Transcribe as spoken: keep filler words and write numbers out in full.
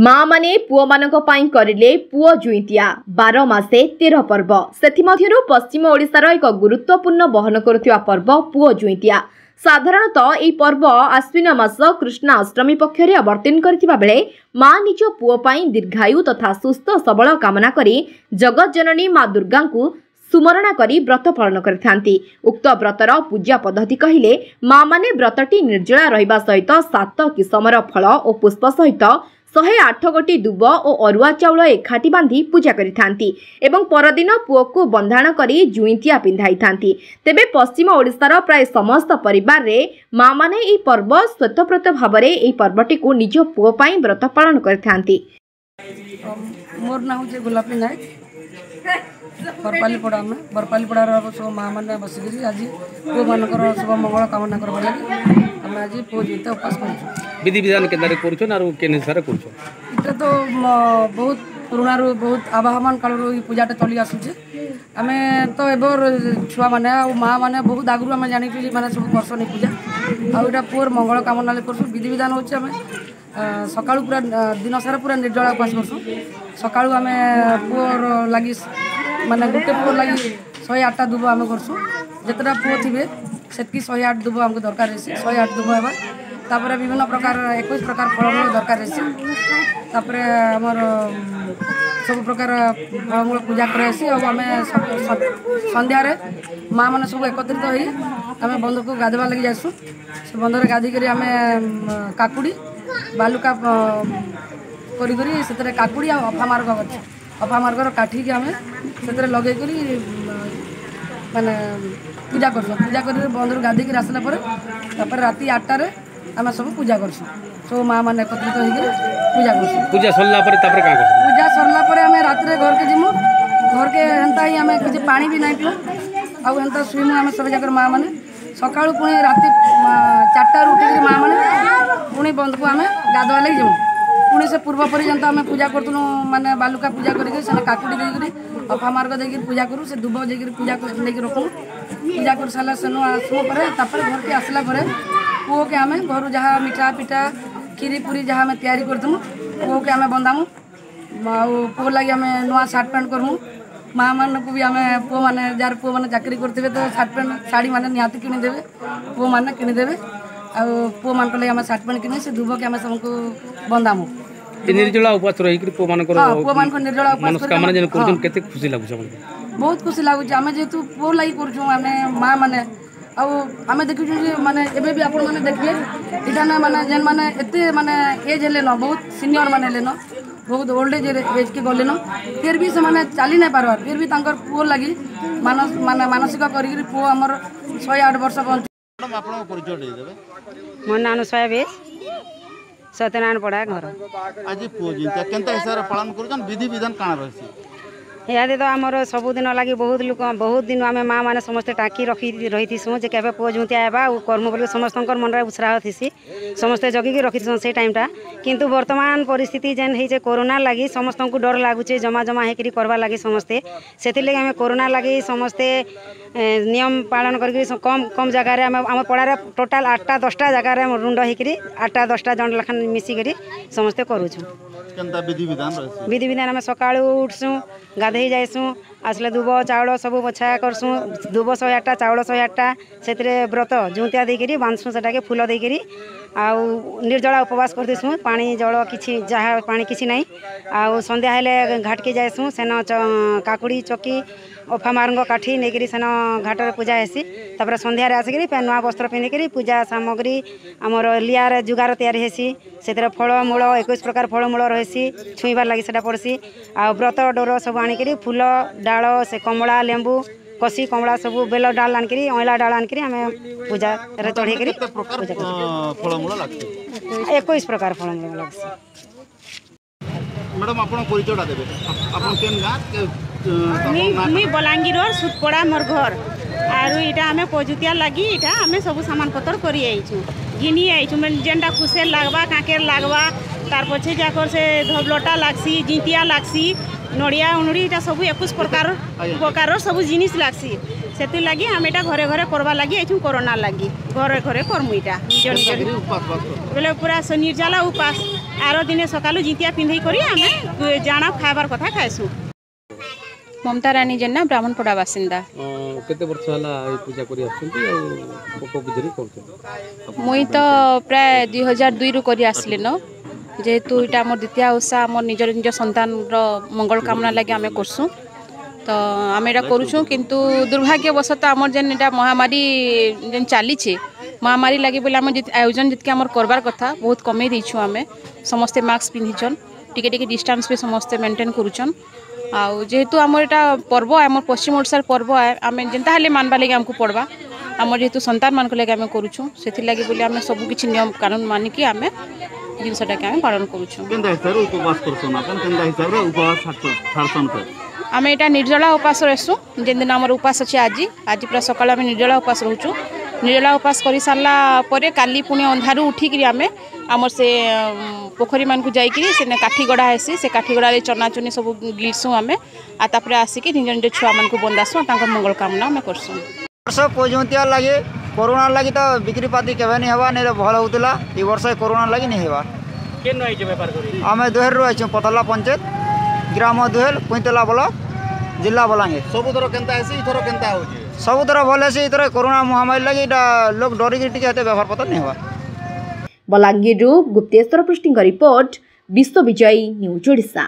ମା ମାନେ ପୁଅମାନଙ୍କ ପାଇଁ କରିଲେ ପୁଅ ଜୁଇଁତିଆ। ବାର ମାସେ ତେର ପର୍ବ, ସେଥିମଧ୍ୟରୁ ପଶ୍ଚିମ ଓଡ଼ିଶାର ଏକ ଗୁରୁତ୍ୱପୂର୍ଣ୍ଣ ବହନ କରୁଥିବା ପର୍ବ ପୁଅ ଜୁଇଁତିଆ। ସାଧାରଣତଃ ଏହି ପର୍ବ ଆଶ୍ୱିନ ମାସ କୃଷ୍ଣା ଅଷ୍ଟମୀ ପକ୍ଷରେ ଅବତୀର୍ଣ୍ଣ କରିଥିବା ବେଳେ ମା ନିଜ ପୁଅ ପାଇଁ ଦୀର୍ଘାୟୁ ତଥା ସୁସ୍ଥ ସବଳ କାମନା କରି ଜଗତଜନନୀ ମା ଦୁର୍ଗାଙ୍କୁ ସୁମରଣା କରି ବ୍ରତ ପାଳନ କରିଥାନ୍ତି। ଉକ୍ତ ବ୍ରତର ପୂଜା ପଦ୍ଧତି କହିଲେ ମା ମାନେ ବ୍ରତଟି ନିର୍ଜଳା ରହିବା ସହିତ ସାତ କିସମର ଫଳ ଓ ପୁଷ୍ପ ସହିତ ଶହେ ଆଠ ଗୋଟି ଦୁବ ଓ ଅରୁଆ ଚାଉଳ ଏକାଠି ବାନ୍ଧି ପୂଜା କରିଥାନ୍ତି ଏବଂ ପରଦିନ ପୁଅକୁ ବନ୍ଧାଣ କରି ଜୁଇଁତିଆ ପିନ୍ଧାଇଥାନ୍ତି। ତେବେ ପଶ୍ଚିମ ଓଡ଼ିଶାର ପ୍ରାୟ ସମସ୍ତ ପରିବାରରେ ମା ମାନେ ଏହି ପର୍ବ ସ୍ୱତଃପ୍ରୋତ ଭାବରେ ଏହି ପର୍ବଟିକୁ ନିଜ ପୁଅ ପାଇଁ ବ୍ରତ ପାଳନ କରିଥାନ୍ତି। ମୋର ନାଁ ହେଉଛି ଗୋଲାପୀ ନାୟକ, ବରପାଲିପଡ଼ା। ଆମେ ବରପାଲିପଡ଼ାର ସବୁ ମା ମାନେ ବସିକିରି ଆଜି ପୁଅମାନଙ୍କର ଶୁଭ ମଙ୍ଗଳ କାମନା କରିବା ଲାଗି ଆମେ ଆଜି ପୁଅ ଜୁଇଁତିଆ ଉପାସ କରୁଛୁ। ବିଧି ବିଧାନ କେନ୍ତାରେ କରୁଛନ୍ ଆରୁ କେନ୍ ହିସାବରେ କରୁଛନ୍? ଏଇଟା ତ ବହୁତ ପୁରୁଣାରୁ, ବହୁତ ଆବାହମାନ କାଳରୁ ଏଇ ପୂଜାଟା ଚଲି ଆସୁଛି। ଆମେ ତ ଏବେର ଛୁଆମାନେ ଆଉ ମା ମାନେ ବହୁତ ଆଗରୁ ଆମେ ଜାଣିଛୁ ଯେ ମାନେ ସବୁ କରସନ୍ ଏଇ ପୂଜା, ଆଉ ଏଇଟା ପୁଅର ମଙ୍ଗଳ କାମନା ଲାଗି କରସୁଁ। ବିଧି ବିଧାନ ହେଉଛି, ଆମେ ସକାଳୁ ପୁରା ଦିନ ସାରା ପୁରା ନିର୍ଜଳା ଉପାସ କରସୁଁ। ସକାଳୁ ଆମେ ପୁଅର ଲାଗି, ମାନେ ଗୋଟେ ପୁଅର ଲାଗି ଶହେ ଆଠଟା ଦୁବ ଆମେ କରସୁଁ। ଯେତେଟା ପୁଅ ଥିବେ ସେତିକି ଶହେ ଆଠ ଦୁବ ଆମକୁ ଦରକାର ହେସି। ଶହେ ଆଠ ଦୁବ ହେବା, ତାପରେ ବିଭିନ୍ନ ପ୍ରକାର ଏକୋଇଶ ପ୍ରକାର ଫଳମୂଳ ଦରକାର ହେସି। ତାପରେ ଆମର ସବୁ ପ୍ରକାର ଫଳମୂଳ ପୂଜା କରାହେସି। ଆଉ ଆମେ ସନ୍ଧ୍ୟାରେ ମା ମାନେ ସବୁ ଏକତ୍ରିତ ହେଇ ଆମେ ବନ୍ଧକୁ ଗାଧେଇବା ଲାଗି ଯାଏସୁଁ। ସେ ବନ୍ଧରେ ଗାଧେଇକରି ଆମେ କାକୁଡ଼ି ବାଲୁକା କରିକରି ସେଥିରେ କାକୁଡ଼ି ଆଉ ଅଫା ମାର୍ଗ ଅଛି, ଅଫା ମାର୍ଗର କାଠିକି ଆମେ ସେଥିରେ ଲଗେଇକରି ମାନେ ପୂଜା କରସୁଁ। ପୂଜା କରିକି ବନ୍ଧରୁ ଗାଧେଇକିରି ଆସିଲା ପରେ ତାପରେ ରାତି ଆଠଟାରେ ଆମେ ସବୁ ପୂଜା କରସୁଁ। ସବୁ ମା ମାନେ ଏକତ୍ରିତ ହେଇକିରି ପୂଜା କରସୁଁ। ପୂଜା ସରିଲା ପରେ ତାପରେ କାଁ କରସୁଁ? ପୂଜା ସରିଲା ପରେ ଆମେ ରାତିରେ ଘରକେ ଯିମୁ। ଘରକେ ହେନ୍ତା ହିଁ ଆମେ କିଛି ପାଣି ବି ନାଇଁ ପିଉ, ଆଉ ହେନ୍ତା ଶୁଇମୁ ଆମେ ସବୁ ଯାକର ମା ମାନେ। ସକାଳୁ ପୁଣି ରାତି ଚାରିଟାରୁ ଉଠିକିରି ମା ମାନେ ପୁଣି ବନ୍ଧକୁ ଆମେ ଗାଧୁଆ ଲାଗି ଯିମୁ। ପୁଣି ସେ ପୂର୍ବ ପରି ଯେନ୍ତା ଆମେ ପୂଜା କରୁଥିଲୁ, ମାନେ ବାଲୁକା ପୂଜା କରିକି ସେନେ କାକୁଡ଼ି ଦେଇକିରି, ଅଫା ମାର୍ଗ ଦେଇକିରି ପୂଜା କରୁ। ସେ ଦୁବ ଦେଇକିରି ପୂଜା ନେଇକି ରଖୁ। ପୂଜା କରି ସାରିଲା ସେନୁ ଆସିବ ପରେ ତାପରେ ଘରକେ ଆସିଲା ପରେ ପୁଅକେ ଆମେ ଘରୁ ଯାହା ମିଠା ପିଠା କ୍ଷୀରି ପୁରୀ ଯାହା ଆମେ ତିଆରି କରିଥିମୁ, ପୁଅକେ ଆମେ ବନ୍ଧାମୁ। ଆଉ ପୁଅ ଲାଗି ଆମେ ନୂଆ ସାର୍ଟ ପ୍ୟାଣ୍ଟ କରମୁ। ମା ମାନଙ୍କୁ ବି ଆମେ ପୁଅମାନେ, ଯାହାର ପୁଅମାନେ ଚାକିରି କରିଥିବେ ତ ସାର୍ଟ ପ୍ୟାଣ୍ଟ ଶାଢ଼ୀ ମାନେ ନିହାତି କିଣିଦେବେ, ପୁଅମାନେ କିଣିଦେବେ। ଆଉ ପୁଅମାନଙ୍କ ଲାଗି ଆମେ ସାର୍ଟ ପ୍ୟାଣ୍ଟ କିଣି ସେ ଦୁବକେ ଆମେ ସମସ୍ତଙ୍କୁ ବନ୍ଧାମୁ। ଏ ନିର୍ଜଳା ଉପାସ ରହିକିରି ପୁଅମାନଙ୍କର ହଁ, ପୁଅମାନଙ୍କ ନିର୍ଜଳା ଉପାସ ମନସ୍କାମନା ଯେନ୍ କରୁଛନ୍, କେତେ ଖୁସି ଲାଗୁଛି ଆପଣଙ୍କୁ? ବହୁତ ଖୁସି ଲାଗୁଛି। ଆମେ ଯେହେତୁ ପୁଅ ଲାଗି କରୁଛୁ ଆମେ ମା ମାନେ, ଆଉ ଆମେ ଦେଖୁଛୁ ଯେ ମାନେ ଏବେ ବି ଆପଣମାନେ ଦେଖିବେ ଏଇଟା ନା, ମାନେ ଯେନ୍ ମାନେ ଏତେ ମାନେ ଏଜ୍ ହେଲେନ, ବହୁତ ସିନିୟର ମାନେ ହେଲେନ, ବହୁତ ଓଲ୍ଡ ଏଜ୍ ଏଜ୍କେ ଗଲେନ, ଫିର୍ ବି ସେମାନେ ଚାଲି ନାଇଁ ପାରବାର, ଫିର୍ ବି ତାଙ୍କର ପୁଅ ଲାଗି ମାନସ ମାନେ ମାନସିକ କରିକିରି ପୁଅ ଆମର ଶହେ ଆଠ ବର୍ଷ ବଞ୍ଚୁ। ମ୍ୟାଡ଼ାମ୍, ଆପଣଙ୍କ ପରିଚୟ ଦେଇଦେବେ। ମୋ ନାଁ ଅନୁସୟା ବେଶ, ସତ୍ୟନାରାୟଣ ପଡ଼ା ଘର। ଆଜି ପୁଅ ଜୁଇଁତିଆ କେନ୍ତା ହିସାବରେ ପାଳନ କରୁଛନ୍, ବିଧି ବିଧାନ କାଣା ରହିଛି? ଇହାଦେ ତ ଆମର ସବୁଦିନ ଲାଗି ବହୁତ ଲୋକ, ବହୁତ ଦିନ ଆମେ ମା ମାନେ ସମସ୍ତେ ଟାଙ୍କି ରଖି ରହିଥିସୁଁ ଯେ କେବେ ପୁଅ ଜୁଁତିଆ ହେବା ଆଉ କର୍ମୁ ବୋଲି। ସମସ୍ତଙ୍କର ମନରେ ଉତ୍ସାହ ଥିସି, ସମସ୍ତେ ଜଗିକି ରଖିଥିସନ୍ ସେଇ ଟାଇମ୍ଟା। କିନ୍ତୁ ବର୍ତ୍ତମାନ ପରିସ୍ଥିତି ଯେନ୍ ହେଇଛେ କରୋନା ଲାଗି, ସମସ୍ତଙ୍କୁ ଡର ଲାଗୁଛେ ଜମା ଜମା ହେଇକିରି କରବାର୍ ଲାଗି ସମସ୍ତେ। ସେଥିର୍ଲାଗି ଆମେ କରୋନା ଲାଗି ସମସ୍ତେ ନିୟମ ପାଳନ କରିକିରି କମ୍ କମ୍ ଜାଗାରେ ଆମେ ଆମ ପଡ଼ାରେ ଟୋଟାଲ୍ ଆଠଟା ଦଶଟା ଜାଗାରେ ଆମେ ରୁଣ୍ଡ ହେଇକିରି ଆଠଟା ଦଶଟା ଜଣ ଲେଖାନ୍ ମିଶିକରି ସମସ୍ତେ କରୁଛୁଁ। କେନ୍ତା ବିଧି ବିଧାନ ରହିଛି? ବିଧି ବିଧାନ, ଆମେ ସକାଳୁ ଉଠ୍ସୁଁ, ଗାଧେଇ ଯାଏସୁଁ, ଆସିଲେ ଦୁବ ଚାଉଳ ସବୁ ବଛା କରସୁଁ। ଦୁବ ଶହେ ଆଠଟା, ଚାଉଳ ଶହେ ଆଠଟା, ସେଥିରେ ବ୍ରତ ଜୁଁତିଆ ଦେଇକିରି ବାନ୍ଧସୁଁ ସେଟାକେ ଫୁଲ ଦେଇକିରି। ଆଉ ନିର୍ଜଳା ଉପବାସ କରିଦେସୁଁ, ପାଣି ଜଳ କିଛି ଯାହା ପାଣି କିଛି ନାହିଁ। ଆଉ ସନ୍ଧ୍ୟା ହେଲେ ଘାଟକେ ଯାଏସୁଁ, ସେନ କାକୁଡ଼ି ଚକି ଅଫା ମାରଙ୍ଗ କାଠି ନେଇକିରି ସେନ ଘାଟରେ ପୂଜା ହେସି। ତାପରେ ସନ୍ଧ୍ୟାରେ ଆସିକିରି ଫେର୍ ନୂଆ ବସ୍ତ୍ର ପିନ୍ଧିକିରି ପୂଜା ସାମଗ୍ରୀ ଆମର ଲିଆରେ ଜୁଗାର ତିଆରି ହେସି। ସେଥିରେ ଫଳମୂଳ, ଏକୋଇଶ ପ୍ରକାର ଫଳମୂଳ ରହିସି, ଛୁଇଁବାର ଲାଗି ସେଟା ପଡ଼୍ସି। ଆଉ ବ୍ରତ ଡୋର ସବୁ ଆଣିକିରି, ଫୁଲ ଡାଳ, ସେ କମଳା ଲେମ୍ବୁ କଷି କମଳା ସବୁ ବେଲ ଡାଳ ଆଣିକିରି, ଅଇଁଳା ଡାଳ ଆଣିକିରି ଆମେ ପୂଜାରେ ଚଢ଼େଇକିରି କେତେ ପ୍ରକାର ପୂଜା କରୁ। ଫଳମୂଳ ଲାଗ୍ସି? ଏକୋଇଶ ପ୍ରକାର ଫଳମୂଳ ଲାଗ୍ସି। ମ୍ୟାଡ଼ାମ୍, ଆପଣ ପରିଚୟଟା ଦେବେ। ଆପଣ କେନ୍ ଗାଁ? ମୁଇଁ ମୁଇଁ ବଲାଙ୍ଗୀରର ସୁତପଡ଼ା ମୋର୍ ଘର। ଆରୁ ଇଟା ଆମେ ପଜୁତିଆ ଲାଗି ଇଟା ଆମେ ସବୁ ସାମାନ ପତର କରି ଆଇଛୁ, ଘିନି ଆଇଛୁ। ମାନେ ଯେନ୍ଟା କୁସେର ଲାଗ୍ବା, କାକେର ଲାଗ୍ବା, ତାର୍ ପଛେ ଯାକର ସେ ଧବଲଟା ଲାଗ୍ସି, ଜିଁତିଆ ଲାଗ୍ସି, ନଡ଼ିଆ ଉନୁଡ଼ି, ଇଟା ସବୁ ଏକୋଇଶ ପ୍ରକାର ପ୍ରକାରର ସବୁ ଜିନିଷ୍ ଲାଗ୍ସି। ସେଥିର୍ଲାଗି ଆମେ ଏଇଟା ଘରେ ଘରେ କରବା ଲାଗି ଆଇଛୁ। କରୋନା ଲାଗି ଘରେ ଘରେ କର୍ମୁ ଇଟା ନିଜ ନିଜ ଉପାସ ବାସ ବୋଲେ ପୁରା ନିର୍ଜଲା ଉପାସ। ଆର ଦିନେ ସକାଳୁ ଜିତିଆ ପିନ୍ଧେଇ କରି ଆମେ ଜାଣା ଖାଇବାର କଥା ଖାଇସୁଁ। ମମତା ରାଣୀ ଜେନା, ବ୍ରାହ୍ମଣପଡ଼ା ବାସିନ୍ଦା। କେତେ ବର୍ଷ ହେଲା ଏଇ ପୂଜା କରି ଆସୁଛନ୍ତି ଆଉ କୋଉ ବିଧିରେ କରୁଛନ୍ତି? ମୁଇଁ ତ ପ୍ରାୟ ଦୁଇ ହଜାର ଦୁଇରୁ କରି ଆସିଲିନ। ଯେହେତୁ ଏଇଟା ଆମର ଦ୍ୱିତୀୟ ଓଷା, ଆମର ନିଜର ନିଜ ସନ୍ତାନର ମଙ୍ଗଳ କାମନା ଲାଗି ଆମେ କରସୁଁ, ତ ଆମେ ଏଇଟା କରୁଛୁଁ। କିନ୍ତୁ ଦୁର୍ଭାଗ୍ୟବଶତଃ ଆମର ଯେନ୍ ଏଇଟା ମହାମାରୀ ଯେନ୍ ଚାଲିଛେ, ମହାମାରୀ ଲାଗି ବୋଲେ ଆମେ ଆୟୋଜନ ଯେତିକି ଆମର କରବାର କଥା ବହୁତ କମେଇ ଦେଇଛୁ। ଆମେ ସମସ୍ତେ ମାସ୍କ ପିନ୍ଧିଛନ୍, ଟିକେ ଟିକେ ଡିଷ୍ଟାନ୍ସ ବି ସମସ୍ତେ ମେଣ୍ଟେନ୍ କରୁଛନ୍। ଆଉ ଯେହେତୁ ଆମର ଏଇଟା ପର୍ବ, ଆମର ପଶ୍ଚିମ ଓଡ଼ିଶାର ପର୍ବ, ଆମେ ଯେନ୍ତା ହେଲେ ମାନବା ଲାଗି ଆମକୁ ପଡ଼ବା। ଆମର ଯେହେତୁ ସନ୍ତାନମାନଙ୍କ ଲାଗି ଆମେ କରୁଛୁଁ, ସେଥିର୍ଲାଗି ବୋଲି ଆମେ ସବୁ କିଛି ନିୟମ କାନୁନ ମାନିକି ଆମେ ଜିନିଷଟାକେ ଆମେ ପାଳନ କରୁଛୁଁ। କେନ୍ତା ହିସାବରେ ଉପବାସ କରୁଛନ୍ ଆପଣ? କେନ୍ତା ହିସାବରେ ଉପବାସ ଛାଡ଼ସନ୍ ଫେର୍? ଆମେ ଏଇଟା ନିର୍ଜଳା ଉପାସ ରହିସୁଁ। ଯେନ୍ ଦିନ ଆମର ଉପାସ ଅଛି, ଆଜି ଆଜି ପୁରା ସକାଳୁ ଆମେ ନିର୍ଜଳା ଉପାସ ରହୁଛୁ। ନିର୍ଜଳା ଉପାସ କରି ସାରିଲା ପରେ କାଲି ପୁଣି ଅନ୍ଧାରୁ ଉଠିକିରି ଆମେ ଆମର ସେ ପୋଖରୀମାନଙ୍କୁ ଯାଇକିରି ସେନେ କାଠି ଗଡ଼ା ହେସି, ସେ କାଠି ଗଡ଼ାରେ ଚନା ଚୁନି ସବୁ ଗିଲ୍ସୁଁ ଆମେ। ଆଉ ତାପରେ ଆସିକି ନିଜ ନିଜ ଛୁଆମାନଙ୍କୁ ବନ୍ଦାସୁଁ, ତାଙ୍କ ମଙ୍ଗଳ କାମନା ଆମେ କରସୁଁ। ବର୍ଷ ପୁଅଜୁନ୍ତିଆ ଲାଗି କରୋନା ଲାଗି ତ ବିକ୍ରି ପାତି କେବେ ନି ହେବା, ନାଇଁ ଭଲ ହଉଥିଲା। ଇ ବର୍ଷ କରୋନା ଲାଗି ନି ହେବା। କେନ୍ ଆଇଛ ବେପାର କରି? ଆମେ ଦୁହେଲରୁ ଆଇଛୁ, ପତଲା ପଞ୍ଚାୟତ, ଗ୍ରାମ ଦୁହେଲ, ପୁଇଁତଲା ବ୍ଲକ, ଜିଲ୍ଲା ବଲାଙ୍ଗୀର। ସବୁଥର କେନ୍ତା ହେସି, ଏଥର କେନ୍ତା ହଉଛି? ସବୁଥର ଭଲ ହେସି, ଏଥର କରୋନା ମହାମାରୀ ଲାଗି ଏଇଟା ଲୋକ ଡରିକି ଟିକେ ଏତେ ବେପାର ପତ୍ର ନି ହେବା। ବଲାଙ୍ଗୀରରୁ ଗୁପ୍ତେଶ୍ୱର ପୃଷ୍ଟିଙ୍କ ରିପୋର୍ଟ, ବିଶ୍ୱ ବିଜୟୀ ନ୍ୟୁଜ୍ ଓଡ଼ିଶା।